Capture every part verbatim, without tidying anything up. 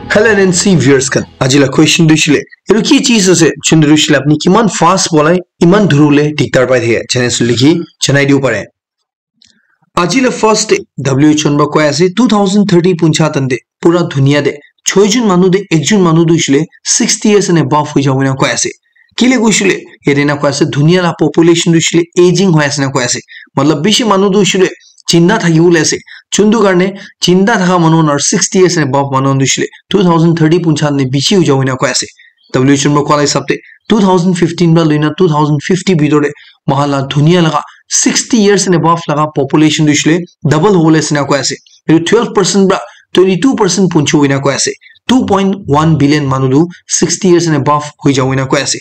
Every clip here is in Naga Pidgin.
Hello N N C viewers khan, aji la question tu shile, etu ki cheez ase, chundu shile apni kiman fast bolai, iman dhurule dikdar pai thake, channel likhi chanai diu pare. Aji la first day W H O khan para koi ase two thousand thirty puncha tande pura dunia de choi jun manu de ekjun manu tu shile sixty years and above hoi jabo na koi ase. Kile kushile, yate na koi ase, dunia la population tu shile aging hoi ase na koi ase. Matlab bishi manu tu shile chinda thaki bole ase. Chundu karne chinda thaka manu na sixty years and above manu tu shile two thousand thirty puncha ne bishi hoi jabo na koi ase. W H O khan para koi la hisab te two thousand fifteen para loina two thousand fifty bhitor te mahala dunia laga sixty years and above laga population tu shile double hole ase na koi ase. Etu twelve percent para twenty two percent punchi hoina koi ase. Two point one billion manu tu sixty years and above hoi jabo na koi ase.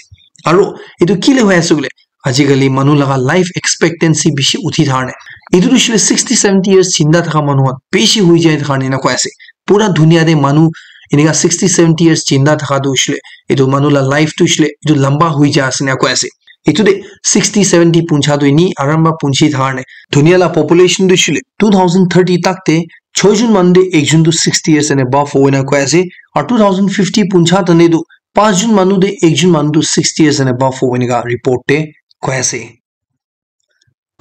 Aro etu kile hoi ase bole, ajikali manu laga life expectancy bishi uthi thar ne. Etu tu shile sixty seventy years chinda thaka manu khan bishi hoi jai thar ne na koi ase. Pura dunia de manu enika sixty seventy years chinda thaka tu shile, etu manu la life tu shile etu lamba hoi ja ase na koi ase. Etu de sixty seventy puncha tu ini aram ba punchi thar ne. Dunia la population tu shile two thousand thirty tak te choi jun manu de ekjun tu sixty years and above hoi na koi ase. Aru two thousand fifty puncha tane tu panch jun manu de ekjun manu tu sixty years and above hoi na report te koi ase.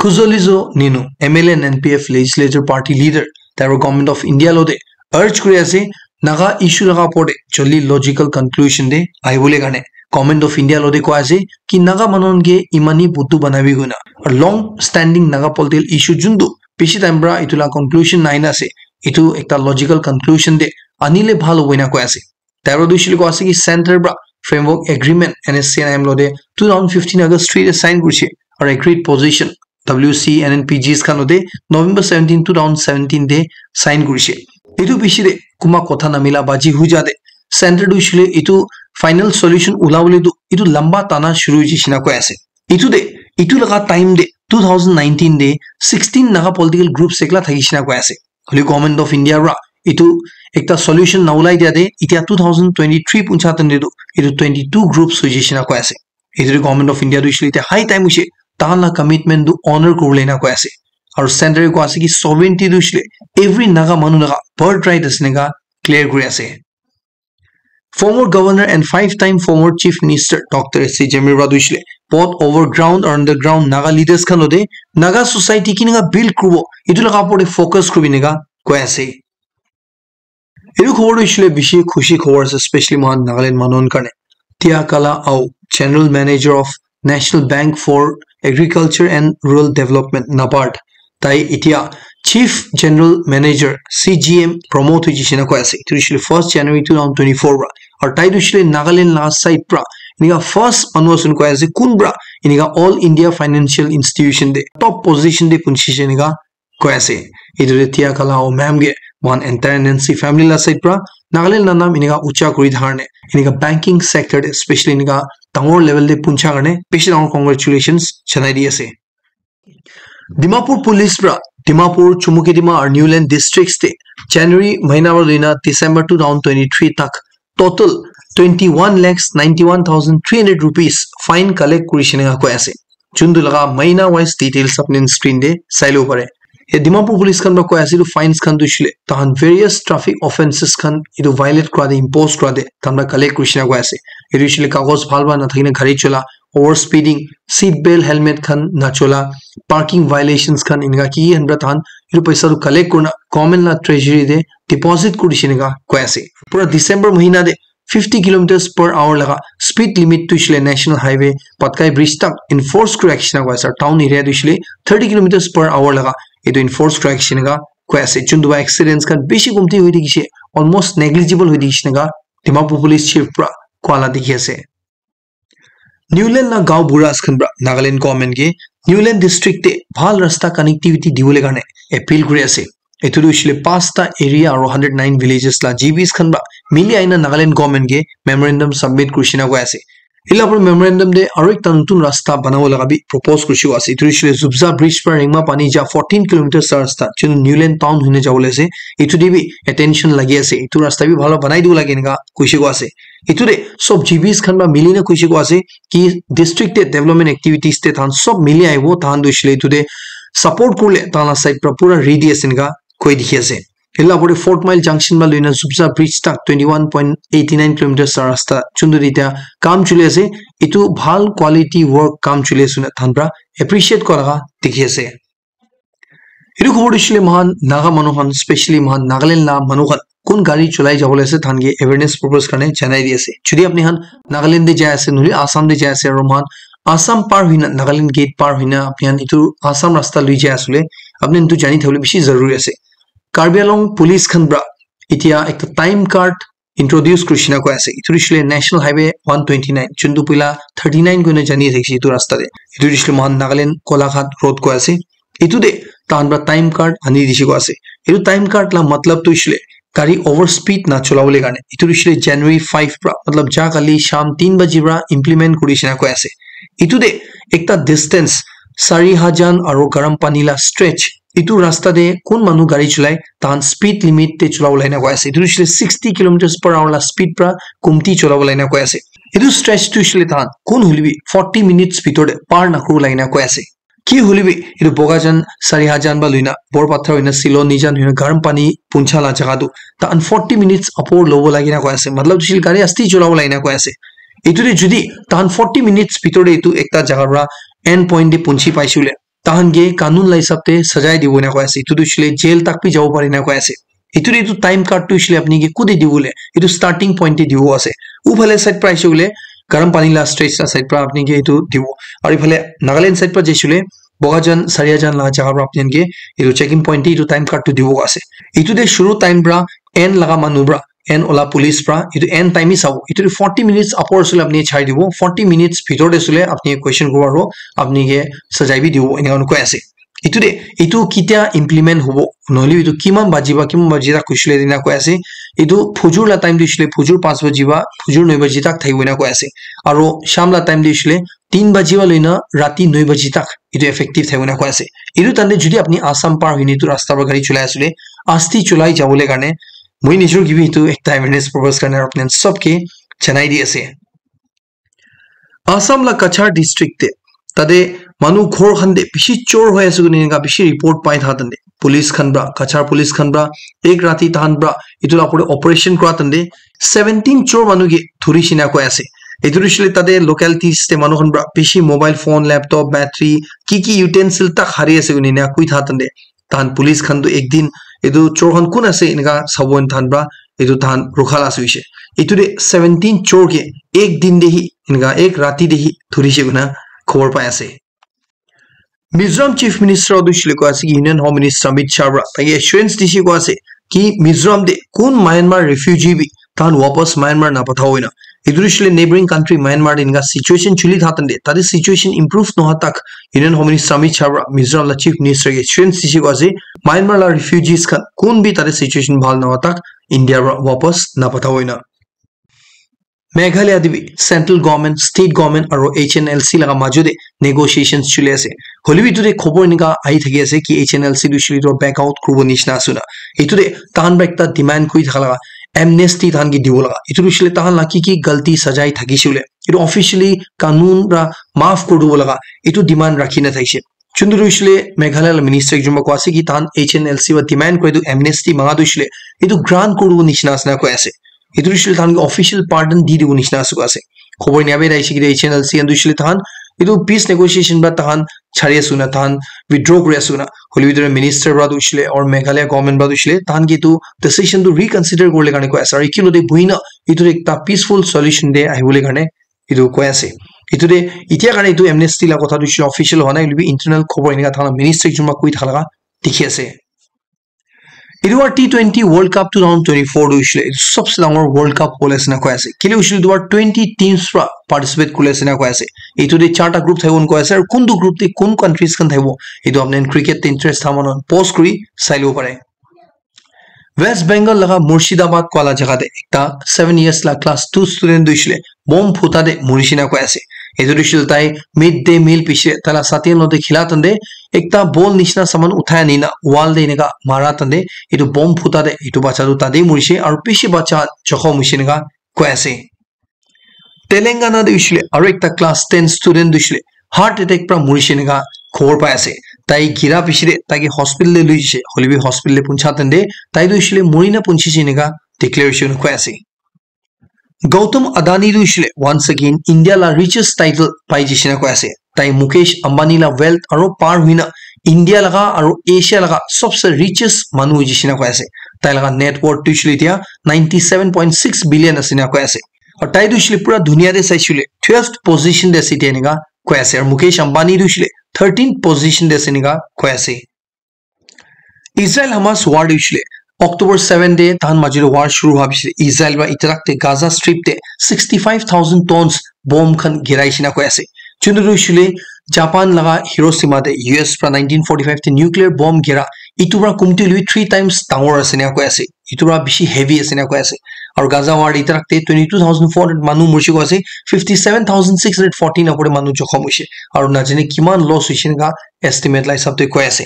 Khuzoledzo Nenu, M L A and N P F legislature party leader, tai para Government of India lo de urge kuri ase, Naga issue laga opor de joldi logical conclusion de ahibole karne Government of India lo de koi ase ki Naga manu khan ke imani butu banabi koina, aru long standing Naga political issue juntu bishi time para etu la conclusion nai na ase, etu ekta logical conclusion de anile bhal hobo na koi ase. Tai para tu shile koi ase ki center para framework agreement N S C N M lo de two thousand fifteen August three de sign kurise, aru agreed position W C N N P Gs khan lo de November seventeen, two thousand seventeen de sign kurise. Etu bishi de kuma kotha namila baji hui ja de center tu shile etu final solution ula bole tu etu lamba tana shuru hoi jishe na koi ase. Etu de, etu laga time de two thousand nineteen de sixteen Naga political groups ekla thakishe na koi ase. Hoile Government of India para etu ekta solution na ulai dia de, etia two thousand twenty-three puncha tande tu etu twenty-two groups hoi jishe na koi ase. Etu tu Government of India tu shile etia high time hoise, tahan la commitment tu honor kuribole na koi ase. Aru center koi ase ki sovereignty tu shile every Naga manu laga birthright ase neka clear kuri ase. Former governor and five time former chief minister Doctor S C Zhemyar para tu shile both over ground or underground Naga leaders khan lo de Naga society kineka build kuribo etu laga opor de focus kuribi neka koi ase. Etu khobor tu shile bishi khushi khobor ase, especially mohan Nagaland manu khan karne. Tia Kala Ao, General Manager of National Bank for Agriculture and Rural Development, NABARD, tai etia Chief General Manager, C G M, promote hoi jishe na koi ase. Etu shile first January two thousand twenty-four para. Aru tai tu shile Nagaland la side para enika first manu ase koi ase, kun para enika All India Financial Institution de top position de punchi jishe enika koi ase. Etu de Tia Kala Ao ma'am ke mohan entire N N C family la side para Nagaland la nam enika ucha kuri thar ne, enika banking sector de, especially enika dangor level de puncha karne bishi dangor congratulations janai di ase. Dimapur Police para Dimapur, Chumukedima aru Niuland districts te January mahina para loina December two thousand twenty-three tak total twenty-one lakhs ninety-one thousand three hundred rupees fine collect kurishe enika koi ase. Juntu laga mahina wise details apni screen te sai lobo pare. Ye Dimapur Police khan para koi ase etu fines khan tu shile tahan various traffic offences khan etu violate kura de, impose kura de tahan para collect kurishe enika koi ase. Etu shile kagos bhal bhal na thakina gari chola, over speeding, seat belt, helmet khan na chola, parking violations khan enika ki ki khan para tahan etu paisa tu collect kurina government la treasury de deposit kurishe enika koi ase. Pura December mahina de fifty kilometers per hour laga speed limit tu shile National Highway Patkai Bridge tak enforce kuri rakhishe enika koi ase. Town area tu shile thirty kilometers per hour laga etu enforce kuri rakhishe enika koi ase. Juntu ba accidents khan bishi komti hoi thakishe, almost negligible hoi thakishe enika Dimapur Police Chief para koa la dikhi ase. Niuland la gaon buras khan para Nagaland government ke Niuland district te bhal rasta connectivity dibole karne appeal kuri ase. Etu tu shile pasta area aru hundred nine villages la G Bs khan para mili aina Nagaland government ke memorandum submit kurishe enika koi ase. Etu la opor memorandum de aru ekta notun rasta banabo laga bi propose kurishe ase. Etu shile Zubza Bridge para Rengma Pani ja fourteen kilometers la rasta, jun Niuland town hoina jabo le ase. Etu de bi attention lagi ase. Etu rasta bi bhal banai dibo lage enika kurishe ase. Etu de sob G Bs khan para mili na kurishe ase ki district te development activities te tahan sob mili ahibo, tahan tu shile etu de support kurile tahan la side para pura ready ase enika koi dikhi ase. Etu la opor te Fort Mile Junction para loina Zubza Bridge tak twenty one point eighty nine kilometers la rasta chuntu te etia kam chuli ase. Etu bhal quality work kam chuli ase koina tahan para appreciate kora laga dikhi ase. Etu khobor tu hoishe le moikhan Naga manu khan, specially moikhan Nagaland la manu khan kun gari cholai jabo le ase, tahan ke awareness purpose karne janai di ase. Jodi apni khan Nagaland te jai ase, nohole Assam te jai ase, aru moikhan Assam par hoina, Nagaland gate par hoina apni khan etu Assam rasta lui jai ase le, apni khan etu jani thabole bishi zaruri ase. Karbi Anglong police khan pra etia ekta time card introduce kurishina koi ase. Etu hoishe le National Highway one twenty nine, juntu puila thirty nine koina jani ase etu rasta te. Etu hoishe le moikhan Nagaland Golaghat road koi ase. Etu te tahan pra time card ani dishe koi ase. Etu time card la matlab tu hoishe le gari over speed na chola bole karne. Etu hoishe le January five pra, matlab ja kali sham tin baji pra implement kurishina koi ase. Etu te ekta distance Sarihajan aru Garam Pani la stretch, etu rasta te kun manu gari cholai, tahan speed limit te chola bole na koi ase. Etu hoishe le sixty kilometers per hour la speed pra kumti chola bole na koi ase. Etu stretch tu hoishe le tahan kun hoile bi forty minutes bhitor te par na kuri bole na koi ase. Ki hoile bi etu Bogajan, Sarihajan ba loina, Borpathar hoina, Silo, Nijan hoina, Garam Pani puncha la jaga tu tahan forty minutes apor lobo lagi na koi ase. Matlab tu hoishe le gari asti chola bole lagi na koi ase. Etu te jodi tahan forty minutes bhitor te etu ekta jaga pra end point te punchi paishe le, tahan ke kanun la hisab te sajai dibo na koi ase. Etu tu hoishe le jail tak bi jabo pare na koi ase. Etu te etu time card tu hoishe le apni ke kute dibo le, etu starting point te dibo ase. U phale side pra aishe le, Garam Pani la stretch la side pra apni ke etu dibo. Aru phale Nagaland side pra jaishe le, Bogajan, Sarihajan la jaga pra apni ke etu checking point te etu time card tu dibo ase. Etu te shuru time pra end laga manu pra, end ola police pra, etu end time hi sabo. Etu te forty minutes apor sule apni chai dibo, forty minutes bhitor te sule apni question kuribo aru apni ke sajai bi dibo, enika koi ase. Etu te, etu ketia implement hobo, nohole etu kiman baji ba, kiman baji tak hoishe le enika koi ase. Etu phujur la time te hoishe le phujur panch baji ba, phujur noi baji tak thakibo enika koi ase. Aru sham la time te hoishe le tin baji ba loina rati noi baji tak etu effective thakibo enika koi ase. Etu time te jodi apni Assam par hoine etu rasta pra gari cholai ase le, asti cholai jabo le karne, moi nijor ke bi etu ekta awareness purpose karne apni khan sob ke janai di ase. Assam la Cachar district te, tate manu ghor khan te bishi chor hoi ase koina enika bishi report pai tha tante. Police khan pra, Cachar police khan pra, ek rati tahan pra, etu la opor te operation kura tante, seventeen chor manu ke dhuri shina koi ase. Etu hoishe le tate localities te manu khan pra bishi mobile phone, laptop, battery, ki ki utensil tak hari ase koina enika koi tha tante. Tahan police khan tu ek din etu chor khan kun ase enika sabo tahan pra etu tahan rukha la ase hoishe. Etu te seventeen chor ke ek din te hi enika ek rati te hi dhurishe koina khobor pai ase. Mizoram Chief Minister tu hoishe le koi ase ki Union Home Minister Amit Shah pra tai ke assurance dishe koi ase ki Mizoram te kun Myanmar refugee bi tahan wapas Myanmar na pathabo ena. Etu hoishe le neighboring country Myanmar te enika situation chuli tha tante, tate situation improve noha tak Union Home Minister Amit Shah pra Mizoram la Chief Minister ke assurance dishe koi ase, Myanmar la refugees khan kun bi tate situation bhal noha tak India pra wapas na pathabo ena. Meghalaya te bi central government, state government aru H N L C laga majo te negotiations chuli ase. Hoile bi etu te khobor enika ahi thaki ase ki H N L C tu hoishe le back out kuribo nishina ase na. Etu te tahan pra ekta demand kuri thaka laga amnesty tahan ke dibo laga. Etu hoishe le tahan la ki ki galti sajai thakishe le, etu officially kanun pra maaf kuri dibo laga, etu demand rakhi na thakishe. Chundru hoishe le Meghalaya la minister ekjon pra koi ase ki tahan H N L C pra demand kore tu amnesty manga tu hoishe le etu grant kuri dibo nishina ase na koi ase. Etu hoishe le tahan ke official pardon di dibo nishina ase koi ase. Khobor enia bi ahi ase ki H N L C khan tu hoishe le tahan etu peace negotiation pra tahan chari ase na, tahan withdraw kuri ase na. Hoile bi etu minister pra tu hoishe le or Meghalaya government pra tu hoishe le tahan ke etu decision tu reconsider kuri bole karne koi ase. Aru ekelogte buhi na etu ekta peaceful solution te ahi bole karne etu koi ase. Etu te etia karne etu amnesty la kotha tu hoishe le official hua nai, hoile bi internal khobor enika thaka la minister ekjon pra koi thaka laga dikhi ase. Etu pra T twenty World Cup two thousand twenty-four tu hoishe le etu sobse dangor World Cup hole ase na koi ase. Kile hoishe le etu pra twenty teams pra participate kuri ase na koi ase. Etu te charta group thakibo koi ase, aru kuntu group te kun countries khan thakibo, etu apni khan cricket te interest tha manu khan pause kuri sai lobo pare. West Bengal laga Murshidabad koi la jaga te ekta seven years la class two student tu hoishe le bomb phuta te mori shina koi ase. Etu tu hoishe le tai mid day meal piche tai la sathi khan logote khila tante ekta ball nishina saman uthai ani na wall te enika mara tante etu bomb phuta te etu bacha tu tate morishe aru bishi bacha jokhom hoishe enika koi ase. Telangana te hoishe le aru ekta class ten student tu hoishe le heart attack pra morishe enika khobor pai ase. Tai gira piche te tai ke hospital te lui jise, hoile bi hospital te puncha tande tai tu hoishe le mori na punchi se enika declaration koi ase. Gautam Adani tu hoishe le once again India la richest title pai jise na koi ase. Tai Mukesh Ambani la wealth aro par huina India laga aro Asia laga sobse richest manu jise na koi ase. Tai laga net worth tu hoishe le etia ninety seven point six billion ase na koi ase. Aru tai tu hoishe le pura dunia te saishe le twelfth position te ase etia enika koi ase. Aru Mukesh Ambani tu hoishe le thirteenth position te ase enika koi ase. Israel Hamas war tu hoishe le October seven te tahan majo te war shuru hua piche Israel para itarak te Gaza Strip te sixty five thousand tons bomb khan girai shina koi ase. Chundu tu hoishe le Japan laga Hiroshima te U S para nineteen forty five te nuclear bomb gira itu para kumti lui three times dangor ase na koi ase. Itu para bishi heavy ase na koi ase. Aru Gaza war itarak te twenty two thousand four hundred manu murshi koi ase, fifty seven thousand six hundred fourteen apore manu jokhom hoishe. Aru najane kiman loss hoishe na estimate la hisab te koi ase.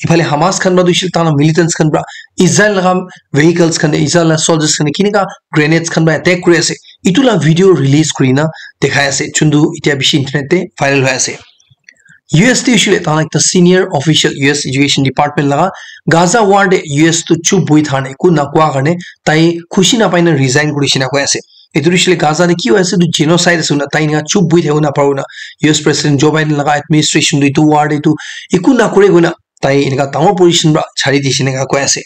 Iphale Hamas khan para tu hoishe le tahan militants khan para Israel laga vehicles khan te Israel la soldiers khan te kinika grenades khan para attack kuri ase. Itu la video release kurina dekhai ase. Chundu itia bishi internet te viral hoi ase. U S te hoishe le tahan ekta senior official U S Education Department laga Gaza war te U S tu chup bui thane ku na kua karne tai khushi na pai na resign kuri shina koi ase. Itu hoishe le Gaza te ki hoi ase tu genocide ase na tai na chup bui thai na paru na U S President Joe Biden laga administration tu itu war te tu iku na kure koi na tai enika dangor position para chari dise enika koi ase.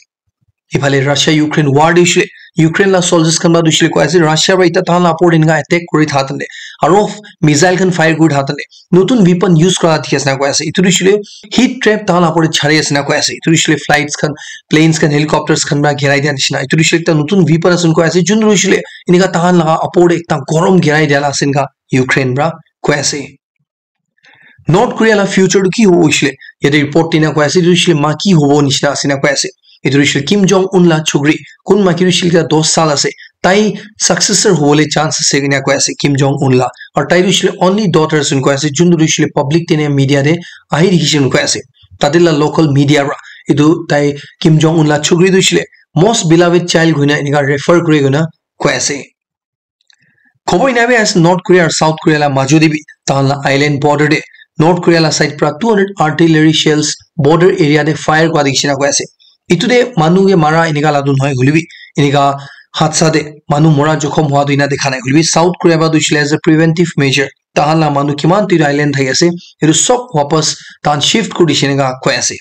Iphale Russia Ukraine war te hoishe le Ukraine la soldiers khan para tu hoishe le koi ase Russia para ita tahan la opor te enika attack kuri tha tande aro missile khan fire kuri tha tande notun weapon use kura dikhi ase na koi ase. Itu tu hoishe le heat trap tahan la opor te chari ase na koi ase. Itu tu hoishe le flights khan, planes khan, helicopters khan para girai dia nishina. Itu tu hoishe le ekta notun weapon ase koi ase. Jun tu hoishe le enika tahan laga opor te ekta gorom girai dia la ase enika Ukraine para koi ase. North Korea la future tu ki hobo hoishe le yate report tina koi ase, itu hoishe le maki hobo nishina ase na koi ase. Itu hoishe le Kim Jong Un la chukri, kun maki hoishe le dos sal ase, tai successor hobole chance ase kina koi ase Kim Jong Un la. Aru tai hoishe le only daughter ase koi ase, jun tu hoishe le public te ne media te ahi dikhi ase koi ase. Tate la local media para itu tai Kim Jong Un la chukri tu hoishe le most beloved child koina enika refer kuri koina koi ase. Khobor ena bi ase North Korea aru South Korea la majo te bi tahan la island border te North Korea la side pra two hundred artillery shells border area te fire kura dikhi na koi ase. Etu te manu ke mara enika la tu nohoi hoile bi enika hadsa te manu mora jokhom hua tu ena dikha nai hoile bi South Korea pra tu hoishe le as a preventive measure tahan la manu kiman tu etu island thaki ase etu sob wapas tahan shift kuri dishe enika koi ase.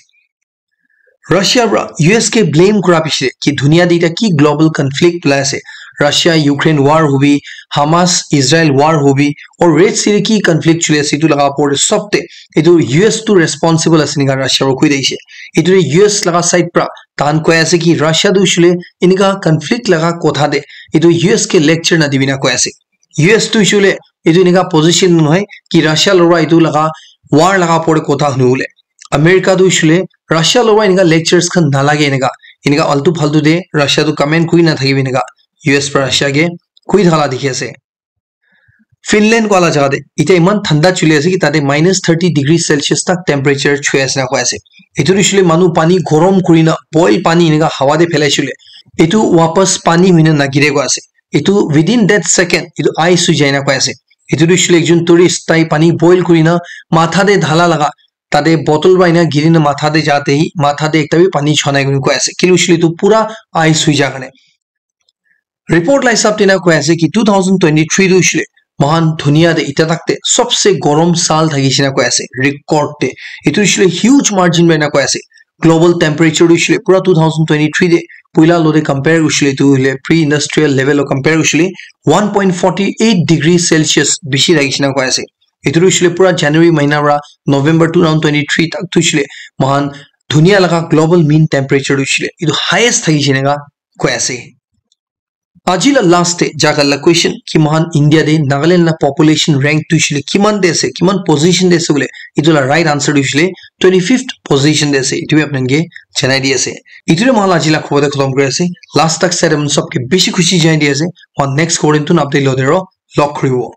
Russia pra U S ke blame kura piche ki dunia te eta ki global conflict ulai ase. Russia Ukraine war hobi, Hamas Israel war hobi, or Red Sea te ki conflict chuli ase etu laga opor te sob te etu U S tu responsible ase enika Russia pra koi dise. Etu te U S laga side pra tahan koi ase ki Russia tu hoishe le enika conflict laga kotha te etu U S ke lecture na dibi na koi ase. U S tu hoishe le etu enika position nohoi ki Russia lora etu laga war laga opor te kotha huni bole. America tu hoishe le Russia lora enika lectures khan nalage enika, enika altu faltu te Russia tu comment kuri na thakibi enika U S pra Russia ke koi thaka la dikhi ase. Finland koa la jaga te etia eman thanda chuli ase ki tate minus thirty degree Celsius tak temperature chhui ase na koi ase. Etu tu hoishe le manu pani gorom kuri na boil pani enika hawa te phelai shile etu wapas pani hoi na nagire koi ase. Etu within that second etu ice hoi jai na koi ase. Etu tu hoishe le ekjon tourist tai pani boil kuri na matha te dhala laga tate bottle pra ena giri na matha te ja te hi matha te ekta bi pani chua nai koi ase. Kile hoishe le etu pura ice hoi ja karne. Report la hisab te na koi ase ki two thousand twenty-three tu hoishe le mohan dunia te eta tak te sobse gorom saal thakishe na koi ase record te. Etu hoishe le huge margin pra na koi ase. Global temperature tu hoishe le pura two thousand twenty-three te puila lo te compare hoishe le etu hoile pre-industrial level lo compare hoishe le one point forty eight degree Celsius bishi thakishe na koi ase. Etu tu hoishe le pura January mahina pra November two thousand twenty-three tak tu hoishe le mohan dunia laga global mean temperature tu hoishe le etu highest thakishe enika koi ase. Aji la last te jaga la question ki mohan India te Nagaland la population rank tu hoishe le kiman te ase, kiman position te ase bole, etu la right answer tu hoishe le twenty-fifth position te ase. Etu bi apni khan ke janai di ase. Etu te mohan la aji la khobor te khatam kuri ase. Last tak sai de mon sob ke bishi khushi janai di ase. Mohan next khobor te notun update lo de ro log kuri bo.